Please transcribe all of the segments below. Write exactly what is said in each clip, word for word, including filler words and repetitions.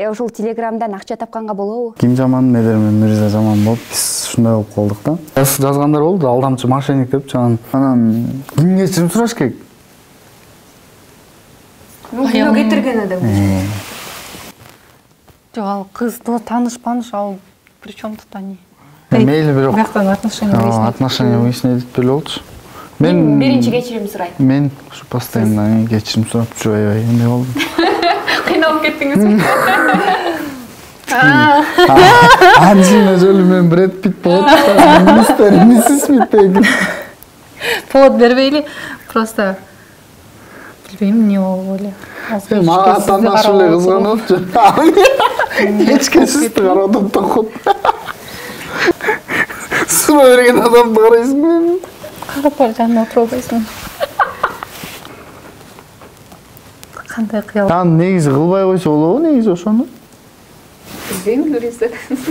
ошол Телеграмдан акча тапканга болобу? Ким жаман, Медер менен Мирза жаман болуп, биз ушундай болуп калдык да. Жазгандар болду, алдамчы мошенник деп, анан анан ким кечирим сураш керек? Күнөө кетирген адам. Жок, ал кыз тааныш-паныш, ал причем тут они? Мейли бирок. Бияктан отношения выяснить. Отношения выяснить этип эле болчу. Мен биринчи кечирим сурайт. Мен ушу постоянно кечирим сурап жүрүп аябай эмне болду. Кыйналып кеттиңизби? Анжелина Джоли менен Брэд Питт болот. Мистер Миссис Смит деген. Повод бербейли, просто билбейм эмне болуп эле. Мага атандаш эле кызганып жүрчү. Эчке сизди карап токот. Сурай берген адамды карайсың. Карап бара жанына отуруп албайсың. Кандай кыял. Ан негизи кылбай койсо болобу, негизи ошону? Билбейм, Нуриза.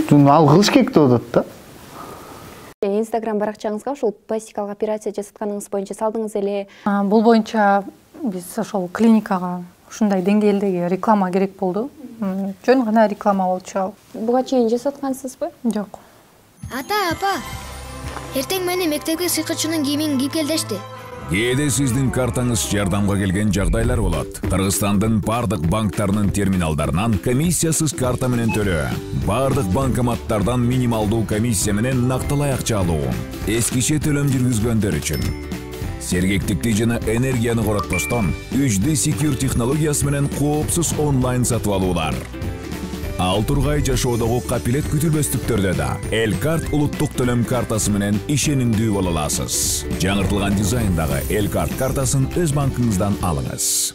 Жун ал кылыш керек деп атат да. Инстаграм баракчаңызга ошол пластикалык операция жасатканыңыз боюнча салдыңыз эле. Бул боюнча биз ошол клиникага ушундай деңгээлдеги реклама керек болду. Жөн гана реклама болчу ал. Буга чейин жасаткансызбы? Жок. Ата, апа. Эртең мени мектепке сыйкычынын кийимин кийип кел дешти. Кээде сиздин картаңыз жардамга келген жагдайлар болот. Кыргызстандын бардык банктарынын терминалдарынан комиссиясыз карта менен төлөө. Бардык банкоматтардан минималдуу комиссия менен нактылай акча алуу. Эскиче төлөм жүргүзгөндөр үчүн. Сергектикти жана энергияны коротпостон үч дэ Secure технологиясы менен коопсуз онлайн сатып алуулар. Ал тургай жашоодогу капилет күтүлбөстүктөрдө да Элкарт улуттук төлөм картасы менен ишенимдүү боло аласыз. Жаңыртылган дизайндагы Элкарт картасын өз банкыңыздан алыңыз.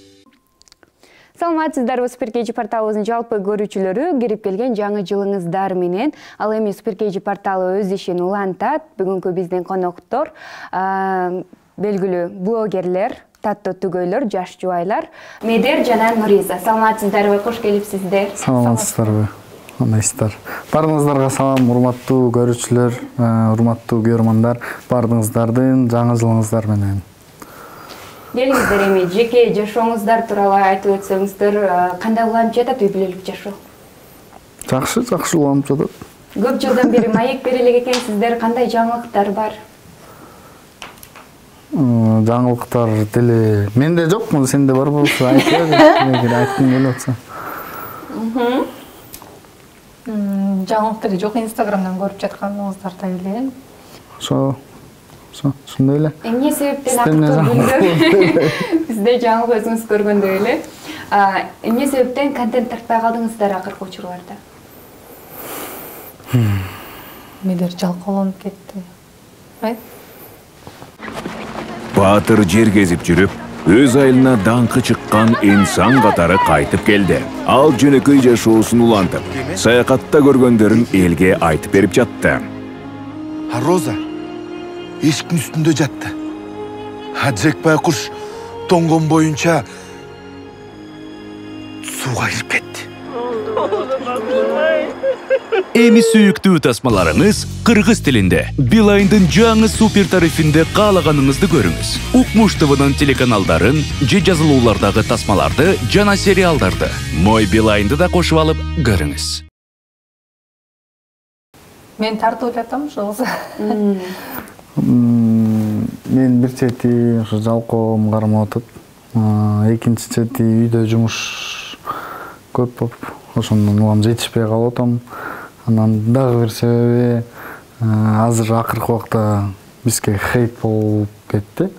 Саламатсыздарбы, Суперкейджи порталыбыздын жалпы көрүүчүлөрү, кирип келген жаңы жылыңыздар менен. Ал эми Суперкейджи порталы өз ишин улантат. Бүгүнкү биздин коноктор белгилүү блогерлер, таттуу түгөйлөр, жаш жубайлар, Медер жана Нуриза. Саламатсыздарбы, кош келипсиздер. Саламатсыздарбы. Кандайсыздар? Баарыңыздарга салам, урматтуу көрүүчүлөр, урматтуу көрөрмандар, баарыңыздардын жаңы жылыңыздар менен. Келиңиздер, эми жеке жашооңуздар тууралуу айтып өтсөңүздөр, кандай уланып жатат үй бүлөлүк жашоо? Жакшы, жакшы уланып жатат. Көп жылдан бери маек бере элек экенсиздер, кандай жаңылыктар бар? Жаңылыктар деле менде жок, сенде бар болсо айтып бер, эгер айткың келип атса. Жаңылык деле жок, Инстаграмдан көрүп жатканыңыздарда эле. Ошо, ошо, ошондой эле. Эмне себептен акыркы бизде жаңылык өзүңүз көргөндөй эле. Эмне себептен контент тартпай калдыңыздар акыркы учурларда? Медер жалкааланып кетти. Right? Баатыр жер кезип жүрүп, өз айылына даңкы чыккан инсан катары кайтып келди. Ал жөнөкөй жашоосун улантып, саякатта көргөндөрүн элге айтып берип жатты. А Роза эшиктин үстүндө жатты. А Джек байкуш тоңгон боюнча сууга кирип кетти. Эми сүйүктүү тасмаларыңыз кыргыз тилинде. Билайндын жаңы супер тарифинде каалаганыңызды көрүңүз. Укмуш ТВнын телеканалдарын, же жазылуулардагы тасмаларды жана сериалдарды Мой Билайнды да кошуп алып көрүңүз. Мен тартып жатам ошо. Мен бир чети ошо жалкоом кармап атат. Экинчи чети үйдө жумуш көп болуп, ошондон улам жетишпей калып атам. Анан дагы бир себеби азыр акыркы убакта бизге хейт болуп кетти.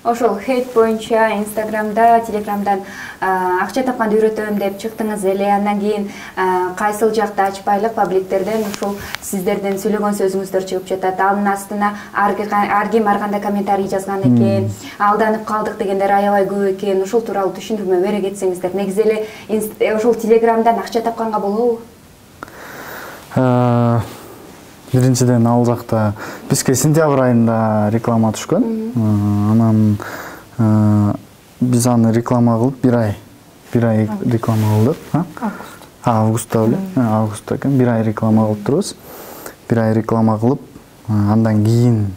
Ошол хейт боюнча Инстаграмда, Телеграмдан акча тапканды үйрөтөм деп чыктыңыз эле. Андан кийин кайсыл жакта ачпайлык пабликтерден ушул сиздердин сүйлөгөн сөзүңүздөр чыгып жатат. Анын астына ар ким ар кандай комментарий жазган экен, алданып калдык дегендер аябай көп экен. Ушул тууралуу түшүндүрмө бере кетсеңиздер. Негизи эле ошол Телеграмдан акча тапканга болобу? Биринчиден ал жакта бизге сентябрь айында реклама түшкөн. Анан биз аны реклама кылып бир ай, бир ай реклама кылдык. Август. Августта эле, августта экен, бир ай реклама кылып турбуз. Бир ай реклама кылып, андан кийин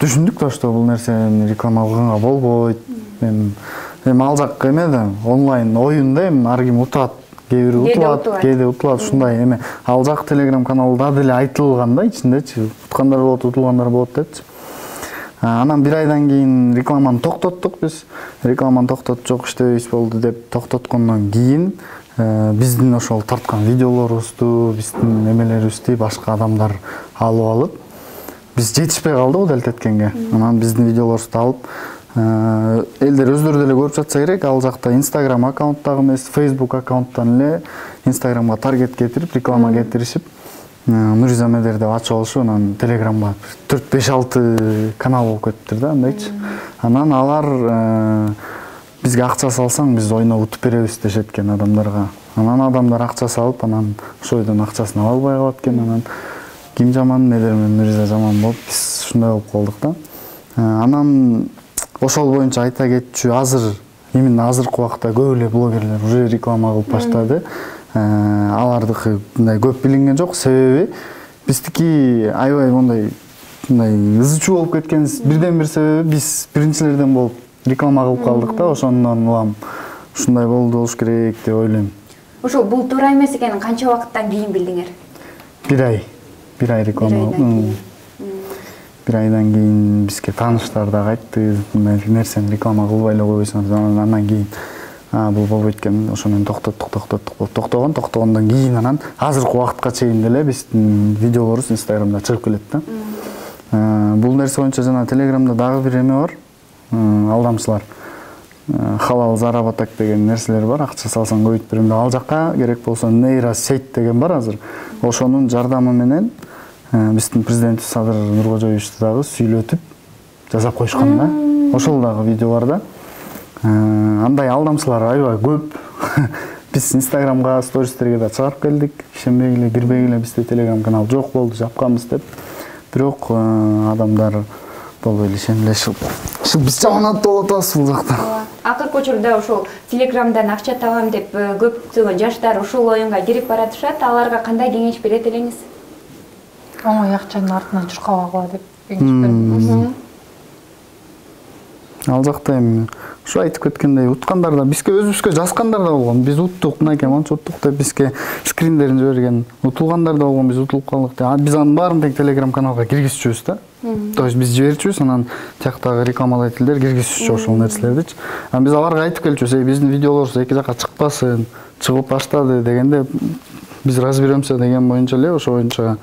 түшүндүк да, что бул нерсе реклама кылганга болбойт. Эми ал жак эме да, онлайн оюн да, эми ар ким утат кээ бири утулат, кээде утулат ушундай эме. Ал жак Telegram каналда деле айтылган да ичиндечи, уткандар болот, утулгандар болот депчи. Анан бир айдан кийин рекламаны токтоттук биз. Рекламаны токтотуп жок иштебейбиз болду деп токтоткондон кийин биздин ошол тарткан видеолорубузду, биздин эмелерибизди башка адамдар алып алып, биз жетишпей калдык дел теткенге. Анан биздин видеолорубузду алып, элдер өздөрү деле көрүп жатса керек, ал жакта Instagram аккаунттагы эмес, Facebook аккаунттан эле Instagramга таргет кетирип, реклама кетиришип, Нуриза Медер деп ачып алышып, анан Telegramга төрт беш алты канал болуп кетиптир да, андайчы. Анан алар бизге акча салсаң, биз ойноп утуп беребиз дешет экен адамдарга. Анан адамдар акча салып, анан ошойдон акчасын ала албай калат экен. Анан ким жаман, Медер менен Нуриза жаман болуп, биз ушундай болуп калдык да. Анан ошол боюнча айта кетчү, азыр именно азыркы убакта көп эле блогерлер уже реклама кылып баштады. Алардыкы мындай көп билинген жок, себеби биздики аябай мындай мындай ызы чуу болуп кеткен. Бирден бир себеби биз биринчилерден болуп реклама кылып калдык да, ошондон улам ушундай болду болуш керек деп ойлойм. Ошол бул туура эмес экенин канча убакыттан кийин билдиңер? Бир ай. Бир ай реклама. Бир айдан кийин бизге тааныштар дагы айтты, мындай нерсени реклама кылбай эле койбойсуңар. Андан кийин бул болбойт экен, ошо менен токтоттук, токтоттук, токтогон, токтогондон кийин анан азыркы убакытка чейин деле биздин видеолорубуз Instagramда чыгып келет да. Бул нерсе боюнча жана Telegramда дагы бир эме бар. Алдамчылар. Халал заработок деген нерселер бар. Акча салсаң көбөйтүп берем деп, ал жакка керек болсо нейросеть деген бар азыр. Ошонун жардамы менен биздин президент Садыр Нуркожоевичти дагы сүйлөтүп жасап коюшкан да. Ошол дагы видео бар да. Андай алдамчылар аябай көп. Биз Instagramга, стористерге да чыгарып келдик. Ишенбегиле, кирбегиле, бизде Telegram канал жок болду, жапканбыз деп. Бирок адамдар болбой эле ишенгиле, биз жаман болуп атабыз бул жакта. Акыркы учурда ошол Telegramдан акча табам деп көптөгөн жаштар ушул оюнга кирип баратышат. Аларга кандай кеңеш берет элеңиз? Оңой акчанын артынан чуркабагыла деп кеңеш берем. Ал жакта эми ушу айтып кеткендей, уткандар да бизге өзүбүзгө жазгандар да болгон. Биз уттук, мынакей манча уттук деп бизге скриндерин жиберген. Утулгандар да болгон, биз утулуп калдык деп. Биз анын баарын тең Telegram каналга киргизчүбүз да. То есть биз жиберчүбүз, анан тияктагы рекламодательдер киргизчү ошол нерселердичи. Анан биз аларга айтып келчүбүз, биздин видеолорубуз эки жакка чыкпасын, чыгып баштады дегенде биз разберемся деген боюнча эле ошо боюнча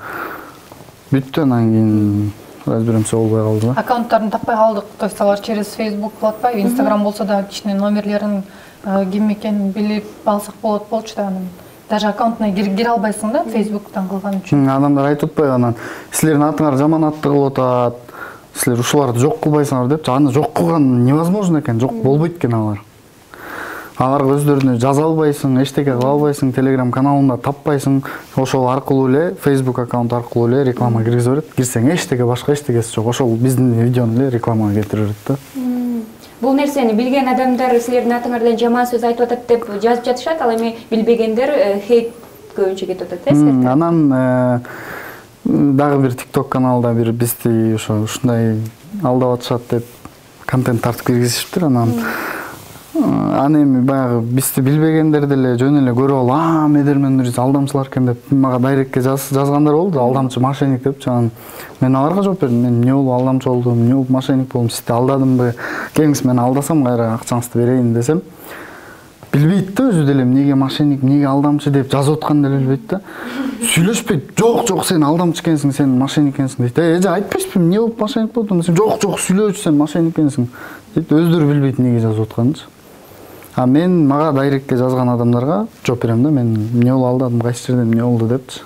бүттү. Анан кийин разберемся болбой калды. Аккаунттарын таппай калдык. То есть алар через Facebook болот атпайбы, Instagram болсо да кичине номерлерин ким экенин билип алсак болот болчу да. Анан даже аккаунтуна кире албайсың да, Facebook'тан кылган үчүн. Адамдар айтып атпайбы, анан силердин атыңар жаман атты кылып атат, силер ушуларды жок кылбайсыңар деп. Аны жок кылган невозможно экен, жок болбойт экен алар. Аларга өздөрүнө жаза албайсың, эчтеке кыла албайсың, Telegram каналында таппайсың. Ошол аркылуу эле, Facebook аккаунт аркылуу эле реклама киргизе берет. Кирсең эчтеке башка эчтекеси жок. Ошол биздин видеону эле рекламага кетире берет да. Бул нерсени билген адамдар силердин атыңардан жаман сөз айтып атат деп жазып жатышат, ал эми билбегендер хейт көбүнчө кетип атат, э? Анан дагы бир TikTok каналда бир бизди ошо ушундай алдап атышат деп контент тартып киргизишиптир. Анан аны эми баягы бизди билбегендер деле жөн эле көрүп алып, а Медер менен Нуриза алдамчылар экен деп мага дайректке жазгандар болду, алдамчы, мошенник депчи. Анан мен аларга жооп бердим, мен эмне болуп алдамчы болдум, эмне болуп мошенник болдум, сизди алдадымбы, келиңиз мен алдасам кайра акчаңызды берейин десем, билбейт да өзү деле эмнеге мошенник, эмнеге алдамчы деп жазып атканын деле билбейт да. Сүйлөшпөйт. Жок, жок, сен алдамчы экенсиң, сен мошенник экенсиң дейт. Эже айтпайсызбы, эмне болуп мошенник болдум десем, жок, жок, сүйлөөчү, сен мошенник экенсиң дейт. Өздөрү билбейт эмнеге жазып атканынчы. А мен мага дайректке жазган адамдарга жооп берем да, мен эмне болуп алдадым, кайсы жерден эмне болду депчи.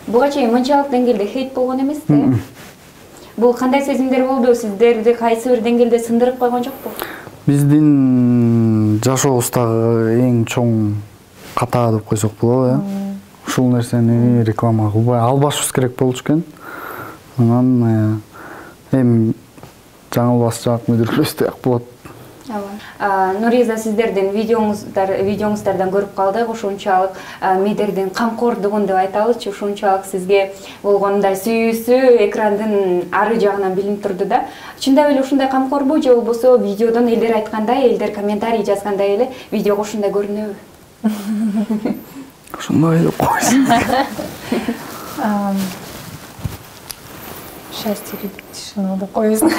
Буга чейин мынчалык деңгээлде хейт болгон эмес да? Бул кандай сезимдер болду? Сиздерди кайсы бир деңгээлде сындырып койгон жокпу? Биздин жашообуздагы эң чоң ката деп койсок болобу, э? Ушул нерсени реклама кылбай албашыбыз керек болчу экен. Анан эми жаңылбас жак, мүдүрүлбөс жак болот. Нуриза, сиздердин видеоңуздар, видеоңуздардан көрүп калдык, ушунчалык Медердин камкордугун деп айталычы, ушунчалык сизге болгондой сүйүүсү экрандын ары жагынан билинип турду да. Чындап эле ушундай камкорбу, же болбосо видеодон элдер айткандай, элдер комментарий жазгандай эле видеого ушундай көрүнөбү? ушундай деп койсун. Счастье любит тишину деп коесуң.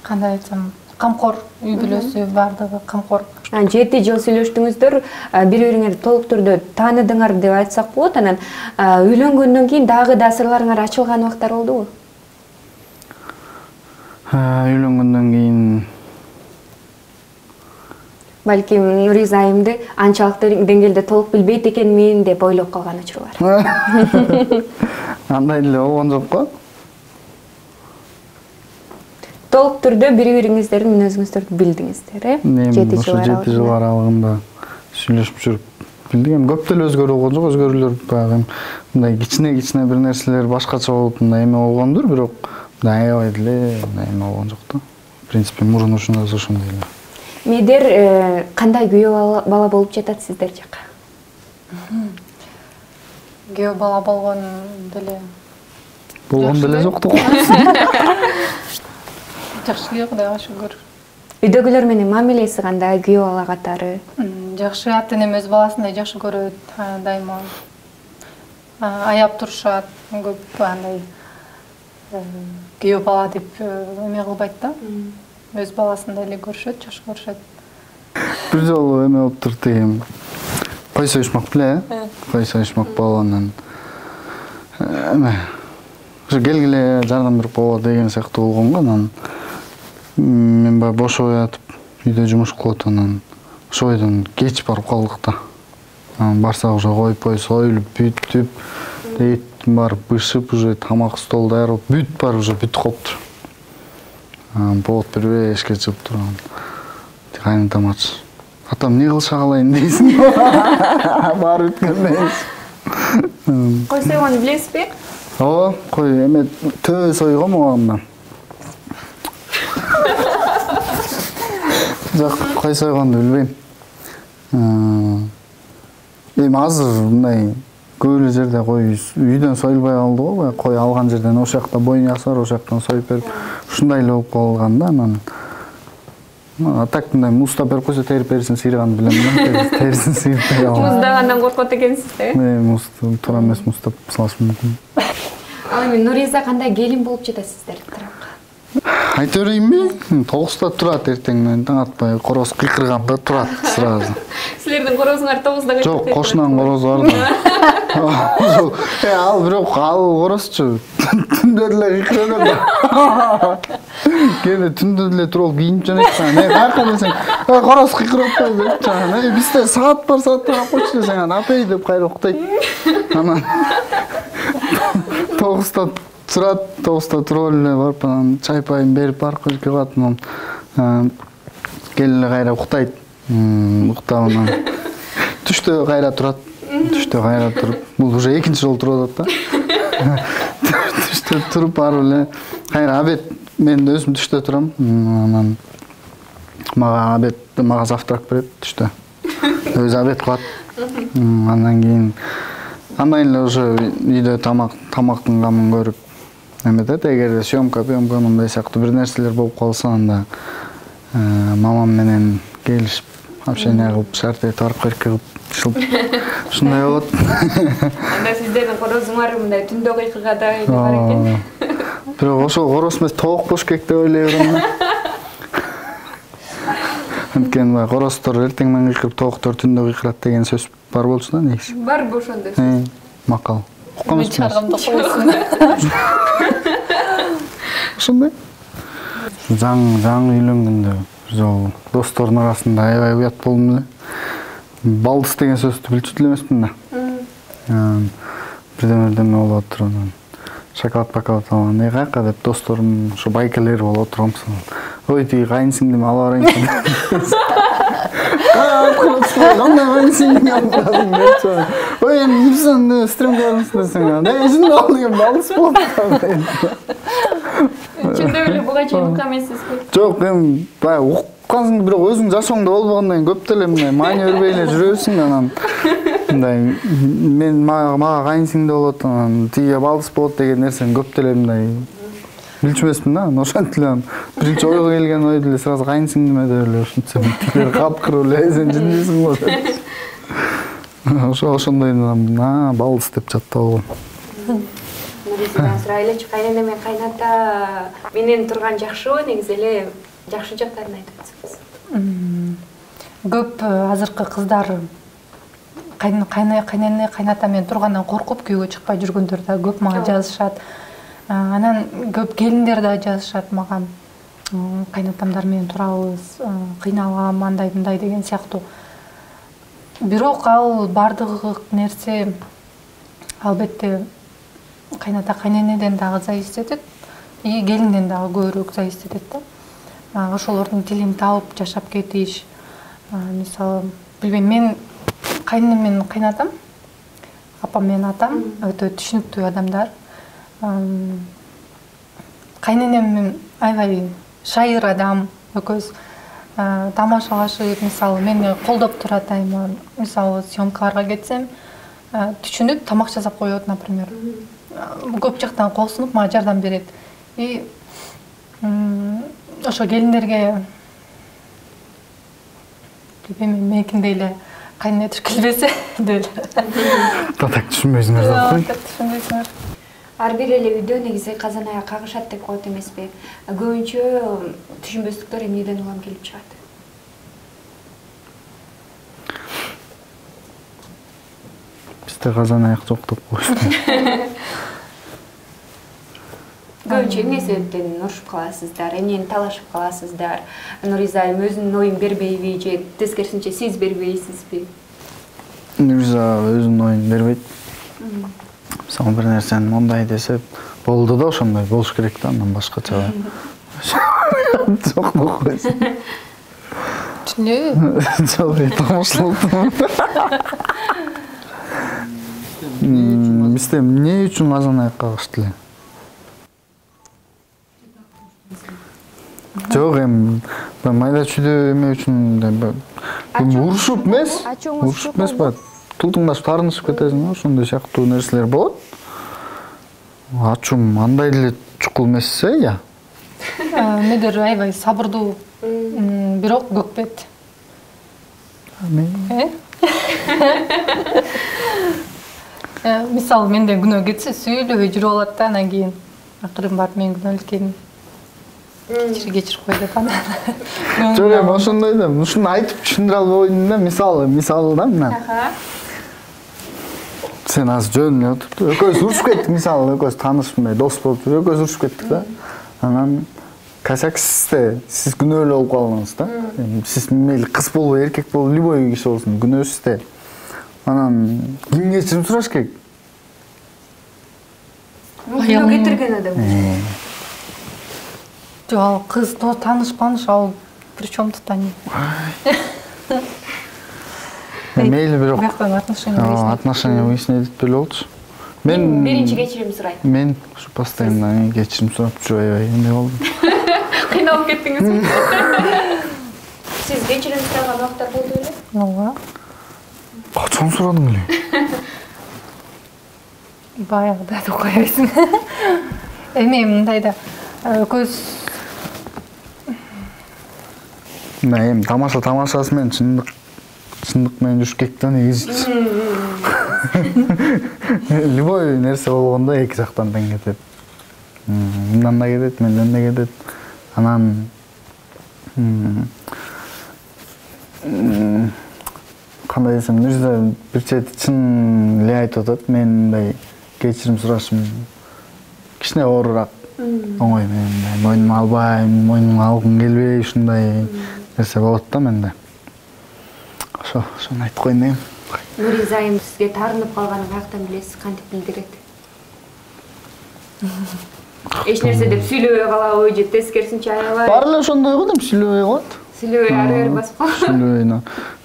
Кандай айтсам, камкор, үй бүлөсү бардыгы камкор. жети жыл сүйлөштүңүздөр, бири-бириңерди толук түрдө тааныдыңар деп айтсак болот. Анан үйлөнгөндөн кийин дагы да сырларыңар ачылган убактар болдубу? Үйлөнгөндөн кийин Балким Нуриза айымды анчалыктуу деңгээлде толук билбейт экенмин деп ойлоп калган учур бар. Андай эле болгон жок го. Толук түрдө бири-бириңиздердин мүнөзүңүздөрдү билдиңиздер, э? жети жыл аралыгында сүйлөшүп жүрүп билдик. Эми көп деле өзгөрүү болгон жок, өзгөрүүлөр баягы мындай кичине-кичине бир нерселер башкача болуп мындай эме болгондур, бирок мындай аябай деле мындай эме болгон жок да. В принципе, мурун ушундай ошондой эле. Медер кандай күйөө бала болуп жатат сиздер жака? Күйөө бала болгон деле. Болгон деле жокту. Жакшы эле, Кудайга шүгүр. Үйдөгүлөр менен мамилеси кандай, күйөө бала катары? Жакшы, ата-энем өз баласындай жакшы көрөт, дайыма аяп турушат, көп андай күйөө бала деп эме кылбайт да. Өз баласындай эле көрүшөт, жакшы көрүшөт. Бир жолу эме болуп турду деген. Кой союшмак беле, э? Кой союшмак болгондон эме ошо келгиле жардам берип коелу деген сыяктуу болгонго, анан мен баягы бошоп ятып үйдө жумуш кылып анан ошо бойдон кеч барып калдык да. Анан барсак уже койпой союлуп бүтүп, эттин баары бышып, уже тамак стол даяр болуп, бүт баары уже бүтүп калыптыр. Анан повод бербей эшикке чыгып турган. Кайнатам ачы. Атам не кылыша калайын дейсиң? Баары бүткөндөн кийин. Кой сойгонду билесизби? Ооба, кой эме төө сойгом оомда. Жок, кой сойгонду билбейм. Эми азыр мындай көп эле жерде кой үйдөн союлбай калды го, кой алган жерден ошол жакта бойун ясар, ошол жактан союп берип, ушундай эле болуп калган да. Анан так мындай музда берип койсо терип берсин сыйрыганды билем да. Терисин сыйыртпай алам. Муздагандан коркот экенсиз да? Э, муз туура эмес муздап салыш мүмкүн. Ал эми Нуриза кандай келин болуп жатат сиздер тарапка? Айта берейинби? Тогузда турат эртеңден таң атпай, короз кыйкырганда турат сразу. Силердин корозуңар тогузда кыйкырат? Жок, кошунан корозу бар да. Э, ал бирок ал корозчу түндө деле кыйкырат да. Кээде түндө деле туруп кийинип жөнөйт. Э, каяка десең, "Э, короз кыйкырып атпайбы?" деп чаган. "Э, бизде саат бар, сааттан алып койчу" десең, анан "Апей" деп кайра уктайт. Анан тогузда турат, тогузда туруп эле барып анан чай пайын берип барып жерге калат, анан келип эле кайра уктайт. Уктап анан түштө кайра турат. Түштө кайра туруп, бул уже экинчи жолу туруп атат да. Түштө туруп барып эле кайра обед, мен өзүм түштө турам. Анан мага обед, мага завтрак берет түштө. Өзү обед кылат. Андан кийин андан эле уже үйдө тамак, тамактын камын көрүп эметет. Эгерде съемка, пьемка мындай сыяктуу бир нерселер болуп калса, анда мамам менен келишип, общение кылып, шарт этип барып керекке кылып ушундай болот. Анда сиздердин корозуңар мындай түндө кыйкыргадай эле бар экен. Бирок ошол короз эмес, тоок болуш керек деп ойлой берем. Анткени баягы короздор эртең менен кыйкырып, тооктор түндө кыйкырат деген сөз бар болчу да негизи. Барбы ошондой сөз? Макал. Мен чыгаргамда койсун. Ошондой. Заң, заң үйлөнгөндө жол достордун арасында аябай уят болдум эле. Балдыз деген сөздү билчү деле эмесмин да. Бирдеме-бирдеме болуп отуруп, шоколад пакалат алган. "Эй, каяка?" деп досторум, ошо байкелер болуп отургам. "Ой, тиги кайынсиңдими ала барайынчы?" Кандай кайынсиңдими алып барасың депчи. "Ой, эми Нурсан стримге бармысың десең, "Эй, жын ал" деген балдыз болуп калды. Чындап эле буга чейин уккан эмессизби? Жок, эми баягы уккансың, бирок өзүң жашооңдо болбогондон кийин көп деле мындай маани бербей эле жүрөсүң да. Анан мындай мен мага кайынсиңде болот, анан тиги балдыз болот деген нерсени көп деле мындай билчү эмесмин да. Ошентип эле биринчи ойго келген ой деле сразу кайынсиңдиме деп эле ушинтсем, тилер капкырып эле "Сен жындысың го" деп. ошо ошондой на балыс деп жатып алгам. Нуризадан сурайлычы, кайнана мен кайната менен турган жакшыбы, негизи эле жакшы жактарын айтып атсаңыз. Көп азыркы кыздар кайнана кайната менен тургандан коркуп күйгө чыкпай жүргөндөр да көп мага жазышат. Анан көп келиндер да жазышат мага. Кайнатамдар менен турабыз, кыйналгам, андай мындай деген сыяктуу. Бирок ал бардыгы нерсе албетте кайната кайненеден дагы зависит этет, и келинден дагы көбүрөөк зависит этет да. Ошолордун тилин таап жашап кетиш. Мисалы, билбейм, мен кайненем менен кайнатам, апам менен атам өтө түшүнүктүү адамдар. Кайненем аябай шайыр адам, экөөбүз тамашалашып, мисалы, мени колдоп турат айма. Мисалы, съемкаларга кетсем, түшүнүп тамак жасап коет, например. Көп жактан кол сунуп мага жардам берет. И ошо келиндерге билбейм, меникиндей эле кайнене келбесе деп эле. Так түшүнбөйсүңөр да. Так түшүнбөйсүңөр. Ар бир эле үйдө негизи казан аяк кагышат деп коет эмеспи? Көбүнчө түшүнбөстүктөр эмнеден улам келип чыгат? Бизде казан аяк жок деп коюшту. Көбүнчө эмне себептен урушуп каласыздар, эмнени талашып каласыздар? Нуриза айым өзүнүн оюн бербейби же тескерисинче сиз бербейсизби? Нуриза өзүнүн оюн бербейт. Мисалы бир нерсени мондай десе, болду да ошондой болуш керек да, андан башкача. Жок деп койсун. Түшүнөбү? Жок, тамашалап. Бизде эмне үчүн казан аяк кагышты эле? Жок, эми майда чүйдө эме үчүн деп урушуп эмес, урушуп эмес ба, тултуңдашып таарынышып кетесиң, ошондой сыяктуу нерселер болот. Ачуум андай эле чукул эмес э, я. Медер аябай сабырдуу, бирок көкпет. Мисалы, менден күнөө кетсе сүйлөбөй жүрүп алат да, анан кийин акырын барып мен күнөөлүк экенин кечир кечирип кой деп анан. Жок, эми ошондой да, ушуну айтып түшүндүрө албайм да, мисалы, мисалы да мына. Сен азыр жөн эле отуруп, экөөбүз урушуп кеттик, мисалы, экөөбүз таанышпай, дос болуп, экөөбүз урушуп кеттик да. Анан косяк сизде, сиз күнөөлүү болуп калдыңыз да. Сиз мейли кыз болобу, эркек болобу, любой киши болсун, күнөө сизде. Анан ким кечирим сураш керек? Күнөө кетирген адам. Жок, ал кыз тааныш-пааныш, ал причем тут они? Мейли бирок. Бияктан отношения. Отношения выяснить деле болчу. Мен биринчи кечирим сурайт. Мен ушу постоянно кечирим сурап жүрүп аябай эмне болду. Кыйналып кеттиңизби? Сиз кечирим сураган убакыттар болду беле? Ооба. Качан сурадың эле? Баягыда деп коебайсың. Эми мындай да көз Мына эми тамаша тамашасы менен чындык чындык менен жүрүш керек да негизи. Любой нерсе болгондо эки жактан тең кетет. Мындан да кетет, менден да кетет. Анан кандай десем, Нуриза бир чети чын эле айтып атат, мен мындай кечирим сурашым кичине оорураак. Оңой менен мойнума албайм, мойнума алгым келбей, ушундай нерсе болот да менде. Ошо, ошону айтып коеюн дегем. Нуриза айым сизге таарынып калганын каяктан билесиз, кантип билдирет? Эч нерсе деп сүйлөбөй калабы же тескерисинче аябай? Баары эле ошондой го дейм, сүйлөбөй калат. Сүйлөбөй ары бери басып калат. Сүйлөбөй.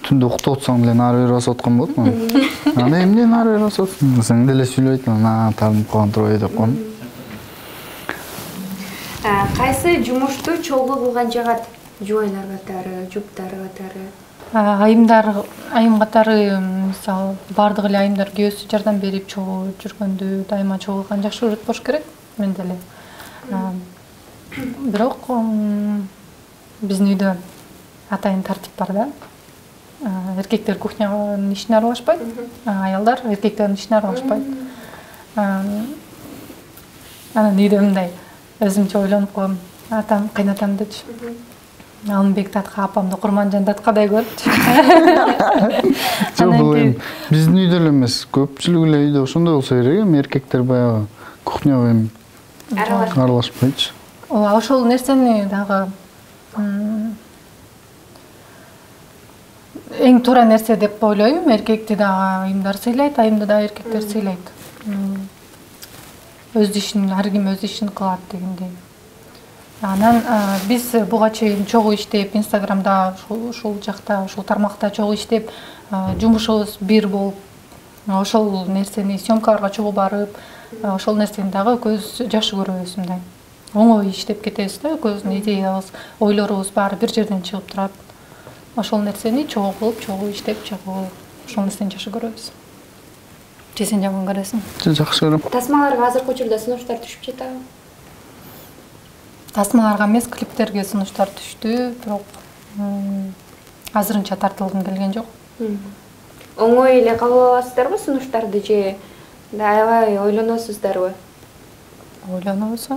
Түндө уктап атсаң деле ары бери басып аткан болот му? Аны эмне ары бери басып атсың? Сен деле сүйлөйт, ана таарынып калган турбайбы деп коем. Кайсы жумушту чогуу кылган жагат? Жубайлар катары, жуптар катары? Айымдар, айым катары, мисалы, бардык эле айымдар күйөөсү жардам берип чогуу жүргөндү, дайыма чогуу кылган жакшы көрөт болуш керек, мен деле. Бирок биздин үйдө атайын тартип бар да. эркектер кухнянын ишине аралашпайт, аялдар эркектердин ишине аралашпайт. Анан үйдө мындай өзүмчө ойлонуп коем, атам, кыйнатам дечи. Алымбек татка апамды Курманжан таткадай көрчү. Жок, бул эми биздин үйдө эле эмес, көпчүлүк эле үйдө ошондой болсо керек эми, эркектер баягы кухняга эми аралашпайчы. Ооба, ошол нерсени дагы эң туура нерсе деп ойлойм. Эркекти дагы айымдар сыйлайт, айымды дагы эркектер сыйлайт. Өз ишин, ар ким өз ишин кылат дегендей. Анан биз буга чейин чогуу иштеп, Инстаграмда ушул жакта, ушул тармакта чогуу иштеп, жумушубуз бир болуп, ошол нерсени съемкаларга чогуу барып, ошол нерсени дагы көз жакшы көрөбүз мындай. Оңой иштеп кетебиз да, көздүн идеябыз, ойлорубуз баары бир жерден чыгып турат. Ошол нерсени чогуу кылып, чогуу иштеп, чогуу ошол нерсени жакшы көрөбүз. Же сен жаман көрөсүң? Жакшы көрөм. Тасмаларга азыркы учурда сунуштар түшүп жатабы? Тасмаларга эмес, клиптерге сунуштар түштү, бирок азырынча тартылгым келген жок. Оңой эле кабыл аласыздарбы сунуштарды же аябай ойлоносуздарбы? Ойлонобуз.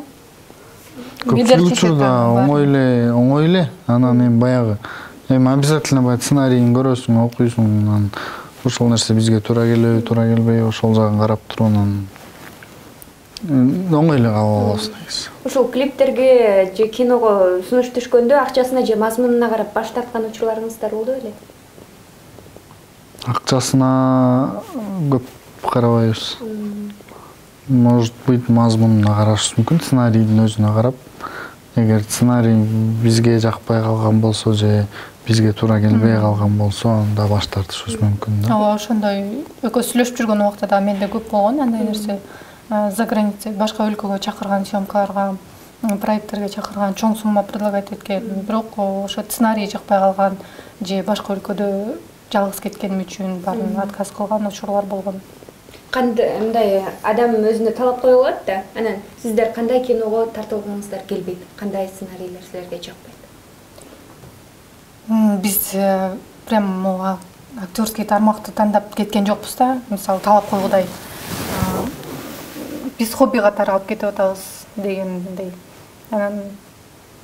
Көпчүлүк учурда оңой эле, оңой эле, анан эми баягы эми обязательно баягы сценарийин көрөсүң, окуйсуң, анан ошол нерсе бизге туура келеби, туура келбейби, ошол жагын карап туруп анан оңой эле кабыл алабыз негизи. Ушул клиптерге же киного сунуш түшкөндө акчасына же мазмунуна карап баш тарткан учурларыңыздар болду беле? Акчасына көп карабайбыз. Может быть, мазмунуна карашыбыз мүмкүн, сценарийдин өзүнө карап. Эгер сценарий бизге жакпай калган болсо же бизге туура келбей калган болсо, анда баш тартышыбыз мүмкүн да. Ооба, ошондой экөөбүз сүйлөшүп жүргөн убакта да менде көп болгон андай нерсе. За граница, башка өлкөгө чакырган съемкаларга, проекттерге чакырган, чоң сумма предлагать эткен. Бирок ошо сценарий жакпай калган же башка өлкөдө жалгыз кеткеним үчүн баарын отказ кылган учурлар болгон. Кандай мындай адам өзүнө талап кое алат да, анан сиздер кандай киного тартылгыңыздар келбейт, кандай сценарийлер силерге жакпайт? Биз прям актерский тармакты тандап кеткен жокпуз да. Мисалы, талап койгудай биз хобби катары алып кетип атабыз дегендей. Анан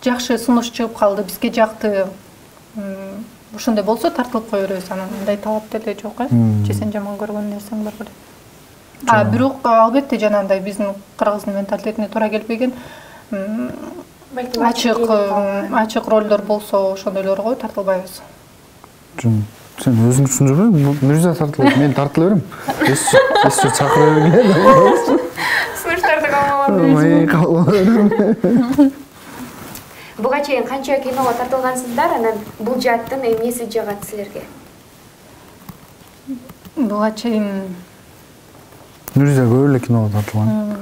жакшы сунуш чыгып калды, бизге жакты. Ошондой болсо тартылып кое беребиз. Анан мындай талап деле жок, э? Же сен жаман көргөн нерсең бар беле? А бирок албетте жанагындай биздин кыргыздын менталитетине туура келбеген ачык ачык ролдор болсо ошондойлорго тартылбайбыз. Жөн, сен өзүң түшүндүрбөң, Мирза тартылат, мен тартыла берем. Эсче чакыра бергиле. Сунуштарды кабыл кабыл берем. Буга чейин канча киного тартылгансыздар, анан бул жааттын эмнеси жагат силерге? Буга чейин Мирза көп эле киного тартылган.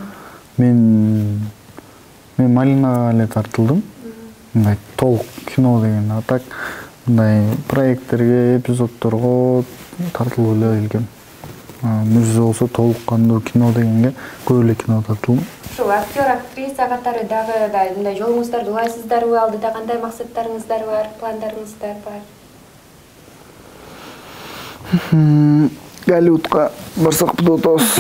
Мен мен Малинага эле тартылдым. Мындай толук кино деген, а так мындай проекттерге, эпизодторго тартылып эле келгем. Мирза болсо толук кандуу кино дегенге көп эле кино тартылдым. Ушул актер, актриса катары дагы мындай жолуңуздарды улайсыздарбы, алдыда кандай максаттарыңыздар бар, пландарыңыздар бар? Голливудка барсак деп атабыз.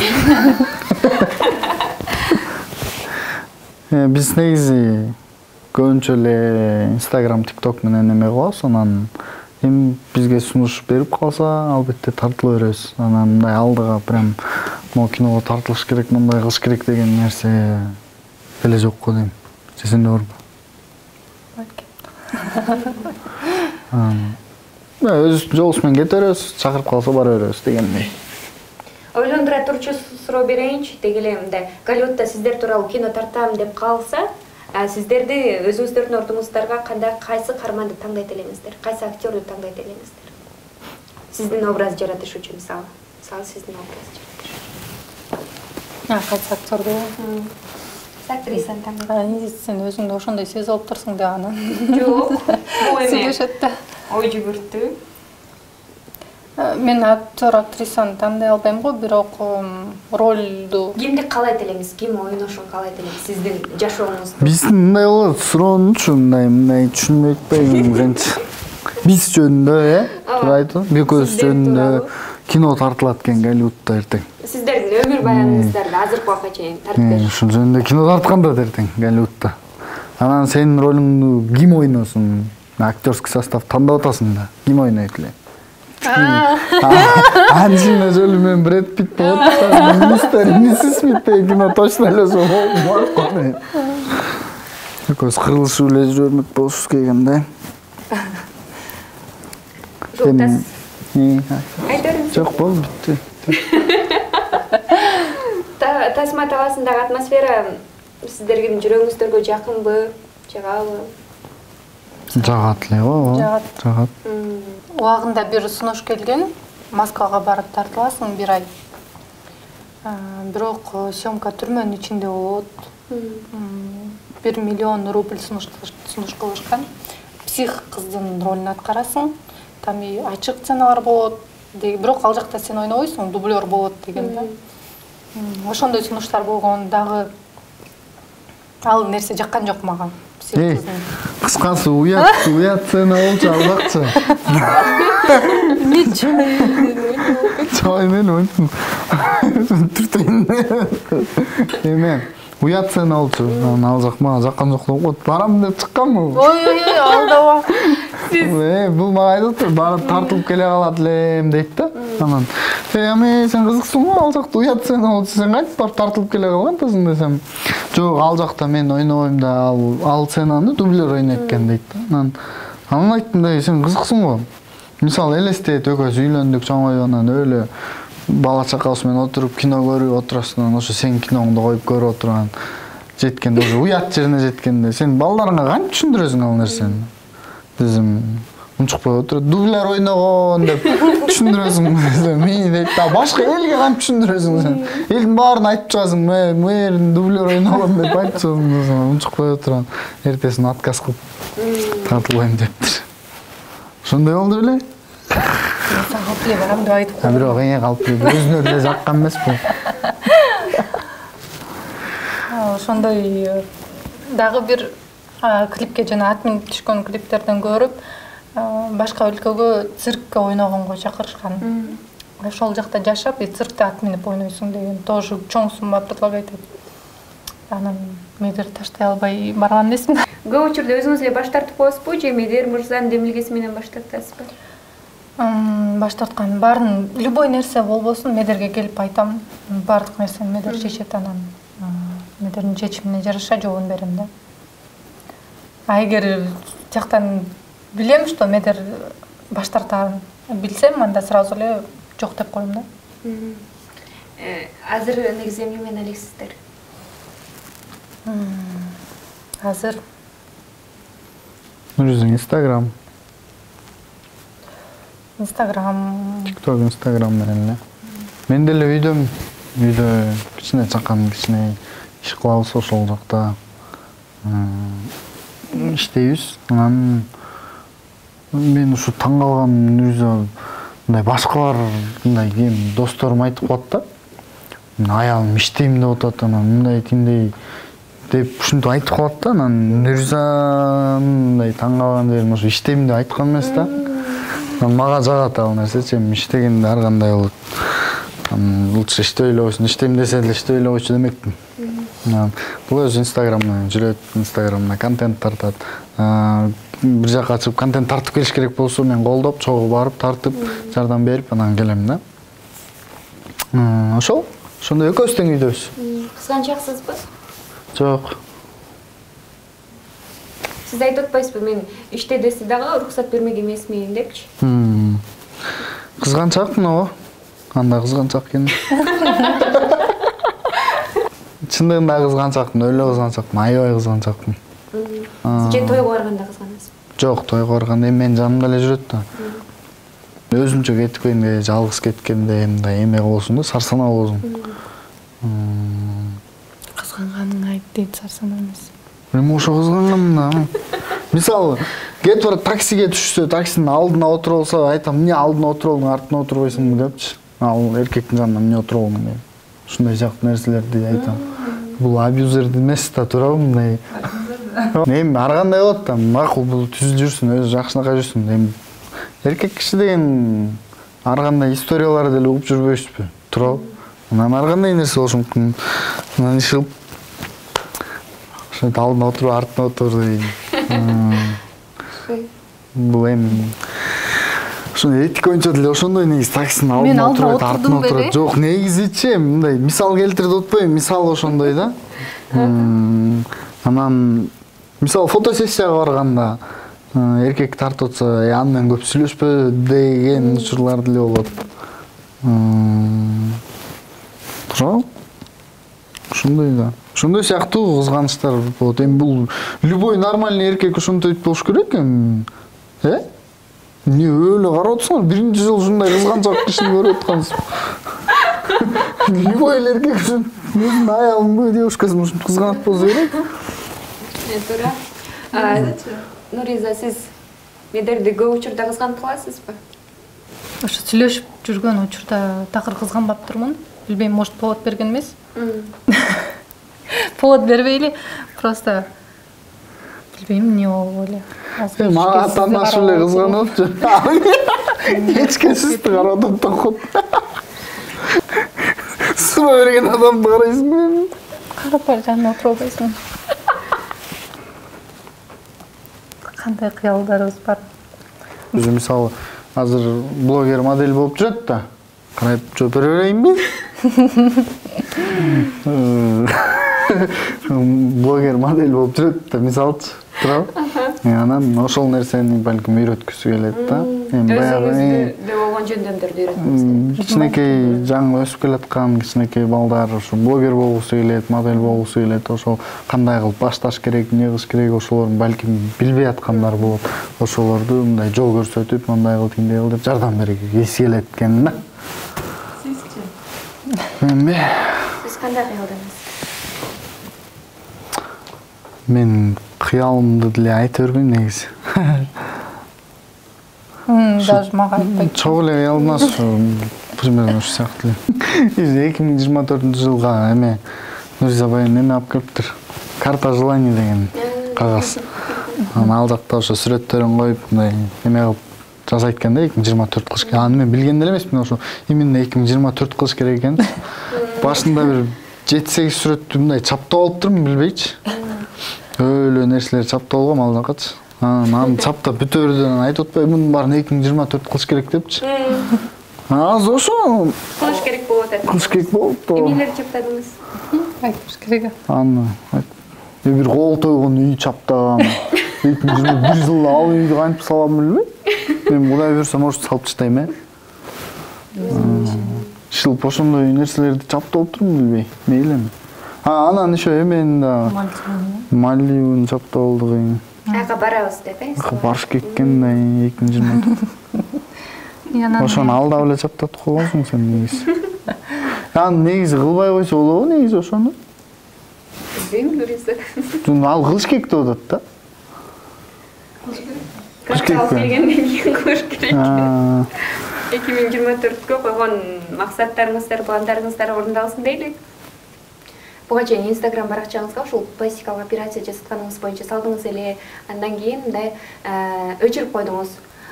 Биз негизи көбүнчө эле Instagram, TikTok менен эме кылабыз, анан эми бизге сунуш берип калса, албетте тартыла беребиз. Анан мындай алдыга прям могу киного тартылыш керек, мындай кылыш керек деген нерсе эле жок го дейм. Же сенде барбы? Өз жолубуз менен кете беребиз, чакырып калса бара беребиз дегендей. Ойлондура турчу суроо берейинчи, деги эле мындай Голливудда сиздер тууралуу кино тартам деп калса, сиздерди өзүңүздөрдүн ордуңуздарга кандай кайсы каарманды тандайт элеңиздер, кайсы актерду тандайт элеңиздер? Сиздин образ жаратыш үчүн, мисалы, мисалы сиздин образ жаратыш. А, кайсы актерду? Актрисаны тандайт. Сен өзүңдү ошондой сезип алып турсуң да анан. Жок, бул эме. Сүйлөшөт да. Ой жүгүртүү. Мен актер, актрисаны тандай албайм го, бирок ролду Кимди каалайт элеңиз, ким ойношун каалайт элеңиз сиздин жашооңузда? Биздин мындай болот, суроонучу мындай мындай түшүнбөй атпайбы сенчи. биз жөнүндө, э? Туура айтып, экөөбүз жөнүндө кино тартылат экен Голливудта эртең. Сиздердин өмүр баяныңыздарды азыркы убакка чейин тартып беришет. Ушул жөнүндө кино тарткан да эртең Голливудта. Анан сенин ролуңду ким ойносун? Актерский состав тандап атасың да. Ким ойнойт эле? Анжелина Джоли менен Брэд Питт болот. Мистер Миссис Смит деген кино точно эле ошол. Экөөбүз кырылышып эле жүрмөк болушубуз келген да. Жок, болду, бүтү. Тасма талаасындагы атмосфера сиздердин жүрөгүңүздөргө жакынбы, жагабы? Жагат эле, ооба. Жагат. Убагында бир сунуш келген, Москвага барып тартыласың бир ай. Бирок съемка түрмөнүн ичинде болот. бир миллион рубль сунуш кылышкан. Псих кыздын ролун аткарасың. Там и ачык сценалар болот. Бирок ал жакта сен ойнобойсуң, дублер болот деген да. Ошондой сунуштар болгон дагы ал нерсе жаккан жок мага. Кыскасы уят, уят сцена болчу албакчы. Чой мен ойнойм. Түртөйм. Эме, уят сцена болчу. Ал жак мага жаккан жок болот. Барам деп чыкканмын. Ой, ой, ой, алдаба. Э, бул мага айтып, барып тартылып келе калат элем дейт да. Анан, "Эй, аме, сен кызыксың го, ал жакта уят сцена болчу, сен кантип барып тартылып келе калгансың?" десем, "Жок, ал жакта мен ойнобойм да, ал ал сценаны дублер ойнойт экен" дейт да. Анан, анан айттым да, "Сен кызыксың го. Мисалы, элестет, экөөбүз үйлөндүк, чоңоюп, анан өлө бала чакабыз менен отуруп кино көрүп отурасың, анан ошо сен киноңду коюп көрүп отурган жеткенде, уже уят жерине жеткенде, сен балдарыңа кантип түшүндүрөсүң ал нерсени?" Десем, унчукпай отуруп, "Дублер ойногон" деп түшүндүрөсүң. Мени дейт да, башка элге кантип түшүндүрөсүң сен? Элдин баарын айтып чыгасың, "Мэр дублер ойногон" деп айтып чыгасың. Унчукпай отурган. Эртесин отказ кылып тартылбайм дептир. Ошондой болду беле? Калп эле барам деп айтып койду. Бирок эң калп эле өзүнө деле жаккан эмес бул. Ошондой дагы бир клипке жана атмин түшкөн клиптерден көрүп, башка өлкөгө циркке ойногонго чакырышкан. Ошол жакта жашап, циркте ат минип ойнойсуң деген тоже чоң сумма предлагайт этип. Анан медер таштай албай барган эмесмин. Көп учурда өзүңүз эле баш тартып коесузбу же медер мырзанын демилгеси менен баш тартасызбы? Баш тарткан баарын любой нерсе болбосун медерге келип айтам. Баардык нерсени медер чечет, анан медердин чечимине жараша жообун берем да. А эгер жактан билем, что медер баш тартарын билсем, анда сразу эле жок деп коем да. Азыр негизи эмне менен элексиздер? Азыр Өзүң Instagram. Instagram. TikTok, Instagram менен эле. Мен деле үйдөм. Үйдө кичине чакан кичине иш кылабыз ошол жакта. Иштейбиз. Анан мен ушу таң калган өзү мындай башкалар мындай кем досторум айтып коет да. Мен аялым иштейм деп атат, анан мындай тиндей деп ушинтип айтып калат да. Анан Нурза мындай таң калган жерим ушу иштейм деп айткан эмес да. Анан мага жагат ал нерсе, мен иштегенде ар кандай болот. Анан лучше иштей эле койсун, иштейм десе деле иштей эле койчу демекмин. Бул өзү Instagramдан жүрөт, Instagramда контент тартат. Бир жака чыгып контент тартып келиш керек болсо, мен колдоп, чогуу барып тартып, жардам берип анан келем да. Ошол, ошондой экөөбүз тең үйдөбүз. Кызганчаксызбы? Жок. Сиз айтып атпайсызбы, мен иште десе дагы уруксат бермек эмесмин депчи? Кызганчакмын ооба. Анда кызганчак экен. Чындыгында кызганчакмын, өлө кызганчакмын, аябай кызганчакмын. Же тойго барганда кызганасызбы? Жок, тойго барганда эми жанымда эле жүрөт да. Өзүмчө кеткенде, жалгыз кеткенде мындай эме болсун да, сарсанаа болсун. Кызганганыңды айт дейт, сарсанаа эмес. Эми ошо кызганганмын да. Мисалы, кетип барып таксиге түшсө, таксинин алдына отуруп алса, айтам, "Эмне алдына отуруп алдың, артына отурбайсыңбы?" депчи. Ал эркектин жанына эмне отуруп алдың деп. Ушундай жактуу нерселерди айтам. Бул абьюзер эмес да, туурабы мындай. Эми ар кандай болот да, макул бул түз жүрсүн, өзү жакшынакай жүрсүн. Эми эркек киши деген ар кандай историяларды деле угуп жүрбөйсүзбү? Туурабы? Анан ар кандай нерсе болушу мүмкүн. Анан иш кылып ошо алдына отуруп, артына отур деген. Бул эми ошондой этика боюнча деле ошондой негизи таксинин алдына отуруп, артына отуруп. Жок, негизичи мындай мисал келтирип атпайбы? Мисал ошондой да. Анан мисалы фотосессияга барганда эркек тартып атса, аны менен көп сүйлөшпө деген учурлар деле болот. Туурабы? Ошондой да. Ошондой сыяктуу кызганычтар болот. Эми бул любой нормальный эркек ошондой болуш керек эми. Э? Эмне өлө карап атсыңар? Биринчи жолу ушундай кызганчак кишини көрүп аткансыз. Любой эркек үчүн өзүнүн аялын девушкасын ушинтип кызганат болсо керек. Туура. А, Нуриза, сиз медерди көп учурда кызганып каласызбы? Ошо сүйлөшүп жүргөн учурда такыр кызганбаптырмын. Билбейм, может, повод берген эмес. Повод бербейли, просто билбейм эмне болуп эле. Мага таанышып эле кызганып атчы. Эчке сизди карап атат. Суроо берген адамды карайсың. Карап бар жанына отуруп албайсың. Кандай кыялдарыбыз бар. Өзү мисалы азыр блогер модель болуп жүрөт да. Карап жооп бере берейинби? Блогер модель болуп жүрөт да, мисалчы. Туурабы? Анан ошол нерсени балким үйрөткүсү келет да. Эми баягы өзүңүздө болгон жөндөмдөрдү үйрөтөсүз. Кичинекей жаңы өсүп келаткан кичинекей балдар ошо блогер болгусу келет, модель болгусу келет, ошол кандай кылып башташ керек, эмне кылыш керек, ошолорун балким билбей аткандар болот. Ошолорду мындай жол көрсөтүп, мындай кыл, тиндей кыл деп жардам бергиси келет экен да. Сизчи? Эми Сиз кандай кыялдыңыз? Мен кыялымды деле айта бербейм негизи. Даже мага айтпайт. Чогуу эле кыялдымас примерно ошол сыяктуу эле. эки миң жыйырма төртүнчү жылга эме Нуриза баягы эме алып келиптир. Карта желаний деген кагаз. Анан ал жакта ошо сүрөттөрүн коюп, мындай эме кылып жасайт экен да, эки миң жыйырма төрт кылыш керек. Аны мен билген деле эмесмин, ошо именно эки миң жыйырма төрт кылыш керек экен. Башында бир жети сегиз сүрөттү мындай чаптап алыптырмын, билбейчи. Өлө нерселер чаптап алгам ал жакачы. Анан аны чаптап бүтө берден айтып атпайбы, мунун баарын эки миң жыйырма төрт кылыш керек депчи. Азыр ошо Кылыш керек болуп атат. Кылыш керек болуп. Эмнелерди чаптадыңыз? Айтыш керек. Аны бир кол тойгон үй чаптагам. эки миң жыйырма бир жылда ал үйдү кантип салам билбейм. Мен Кудай буйрса, может, салып таштайм, э. Шылып ошондой нерселерди чаптап отурмун, билбей. Мейли эми. А, анан ошо эмени да Мальдивын чаптап алдык эми. Ага, барабыз деп, э? Барыш кеткен да эки миң жыйырма төрт. Ошону алдап эле чаптатып койгонсуң сен негизи. Аны негизи кылбай койсо болобу негизи ошону? Билбейм, Нуриза. Жөн ал кылыш керек деп атат да. Кылыш керек. Карта келгенден кийин кылыш керек. эки миң жыйырма төрткө койгон максаттарыңыздар, пландарыңыздар орундалсын дейли. Буга чейин Instagram баракчаңызга ушул пластикалык операция жасатканыңыз боюнча салдыңыз эле, андан кийин мындай өчүрүп койдуңуз.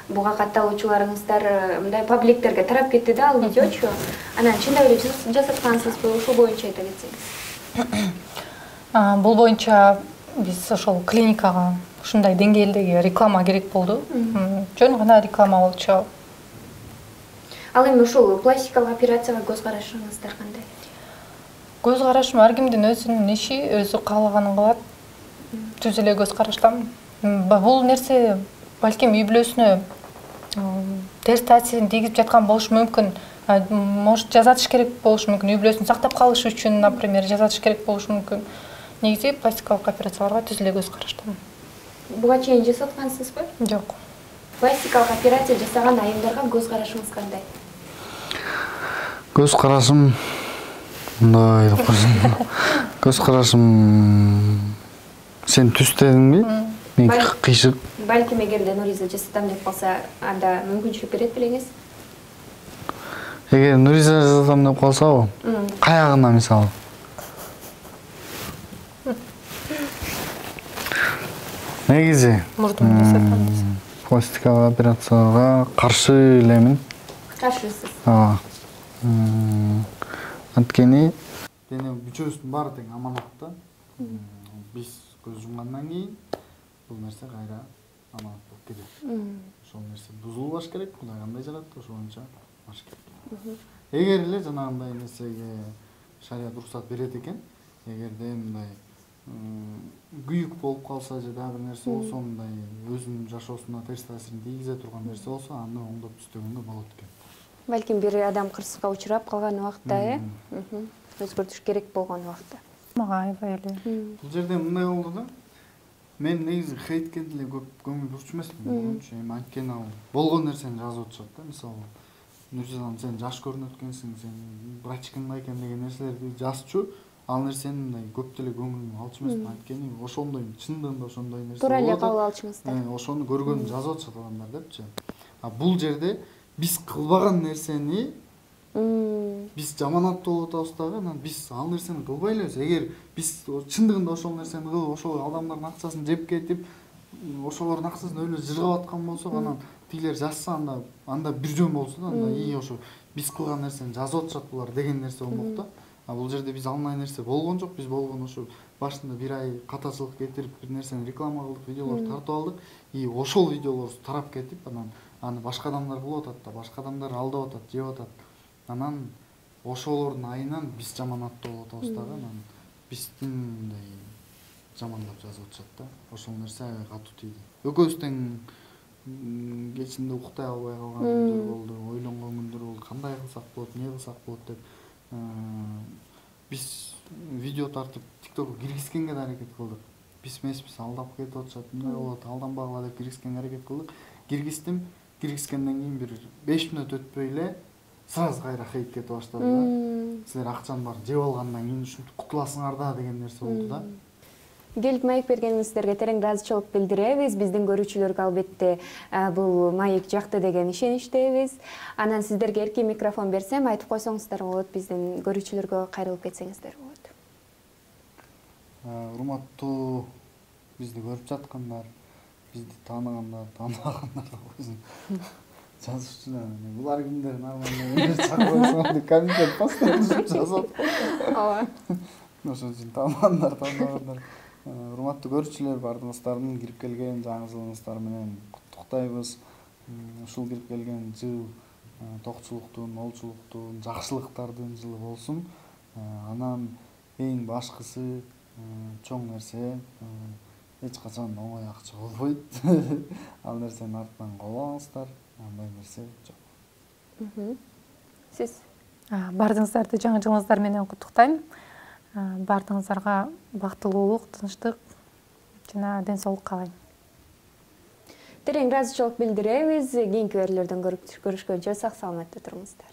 Буга катталуучуларыңыздар мындай пабликтерге тарап кетти да ал видеочу. Анан чындап эле жасаткансызбы? Ушул боюнча айта кетсеңиз. Бул боюнча биз ошол клиникага ушундай деңгээлдеги реклама керек болду. Жөн гана реклама болчу. Ал эми ушул пластикалык операцияга көз карашыңыздар кандай? Көз карашым ар кимдин өзүнүн иши, өзү каалаганын кылат. Түз эле көз караштам. Бул нерсе балким үй бүлөсүнө терс таасирин тийгизип жаткан болушу мүмкүн. Может, жасатыш керек болушу мүмкүн. Үй бүлөсүн сактап калыш үчүн, например, жасатыш керек болушу мүмкүн. Негизи пластикалык операцияларга түз эле көз караштам. Буга чейин жасаткансызбы? Жок. Пластикалык операция жасаган айымдарга көз карашыңыз кандай? Көз карашым мындай деп койсом. Көз карашым сен түз дедиңби? Мен кыйшык. Балким эгерде Нуриза жасатам деп калса, анда мүмкүнчүлүк берет белеңиз? Эгер Нуриза жасатам деп калсабы? Каягына мисалы. Негизи мурдун жасаткан. пластикалык операцияга каршы элемин. Каршысыз. Ооба. Анткени дене бүчөбүздүн баары тең аманатта. Биз көз жумгандан кийин бул нерсе кайра аманат болуп кетет. Ошол нерсе бузулбаш керек, Кудай кандай жаратты, ошо боюнча баш керек. Эгер эле жанагындай нерсеге шарият уруксат берет экен, эгерде мындай күйүк болуп калса же дагы бир нерсе болсо, мындай өзүнүн жашоосуна терс таасирин тийгизе турган нерсе болсо, аны оңдоп түзтөгөнгө болот экен. Балким бир адам кырсыкка учурап калган убакта, э? Өзгөртүш керек болгон убакта. Мага аябай эле. Бул жерде мындай болду да. Мен негизи хейтке деле көп көңүл бурчу эмесмин. Эми анткени ал болгон нерсени жазып атышат да. Мисалы, Нуржан, сен жаш көрүнөт экенсиң, сен врачкаңда экен деген нерселерди жазчу. Ал нерсени мындай көп деле көңүлүмө алчу эмесмин. Анткени ошондой, чындыгында ошондой нерсе болот. Туура эле кабыл алчыңыздар. Ошону көргөнүн жазып атышат адамдар депчи. А бул жерде биз кылбаган нерсени биз жаманаттуу болуп атабыз дагы, анан биз ал нерсени кылбай элебиз. Эгер биз чындыгында ошол нерсени кылып, ошол адамдардын акчасын жеп кетип, ошолордун акчасын өлө жыргап аткан болсок, анан тигилер жазса, анда анда бир жөн болсо да, анда и ошо биз кылган нерсени жазып атышат булар деген нерсе болмок да. А бул жерде биз алынай нерсе болгон жок. Биз болгон ошо башында бир ай катачылык кетирип, бир нерсени реклама кылдык, видеолор тартып алдык. И ошол видеолор тарап кетип, анан аны башка адамдар кылып атат да, башка адамдар алдап атат, жеп атат. Анан ошолордун айынан биз жаманаттуу болуп атабыз дагы, анан биздин мындай жамандап жазып атышат да. Ошол нерсе аябай катуу тийди. Экөөбүз тең кечинде уктай албай калган күндөр болду, ойлонгон күндөр болду. Кандай кылсак болот, эмне кылсак болот деп биз видео тартып TikTokко киргизгенге да аракет кылдык. Биз эмеспиз, алдап кетип атышат, мындай болот, алданбагыла деп киргизгенге аракет кылдык. Киргиздим, киргизгенден кийин бир беш мүнөт өтпөй эле сразу кайра хейт кетип баштады да. Силер акчаны бар жеп алгандан кийин ушинтип кутуласыңар да деген нерсе болду да. Келип маек бергениңиздерге терең ыраазычылык билдиребиз. Биздин көрүүчүлөргө албетте бул маек жакты деген ишеничтебиз. Анан сиздерге эркин микрофон берсем, айтып койсоңуздар болот, биздин көрүүчүлөргө кайрылып кетсеңиздер болот. Урматтуу бизди көрүп жаткандар, бизди тааныгандар, тааныбагандар да койсун. Жазуучулар, булар кимдер, нормально чакырсаң деп комментарий постоянно жазат. Ооба. Ошон үчүн тааныгандар, тааныбагандар. Урматтуу көрүүчүлөр, баардыгыңыздардын кирип келген жаңы жылыңыздар менен куттуктайбыз. Ушул кирип келген жыл токчулуктун, молчулуктун, жакшылыктардын жылы болсун. Анан эң башкысы чоң нерсе эч качан оңой акча болбойт. Ал нерсенин артынан калбаңыздар. Андай нерсе жок. Сиз? Баардыгыңыздарды жаңы жылыңыздар менен куттуктайм. Баардыгыңыздарга бактылуулук, тынчтык жана ден соолук каалайм. Терең ыраазычылык билдиребиз. Кийинки берүүлөрдөн көрүшкөнчө сак саламатта туруңуздар.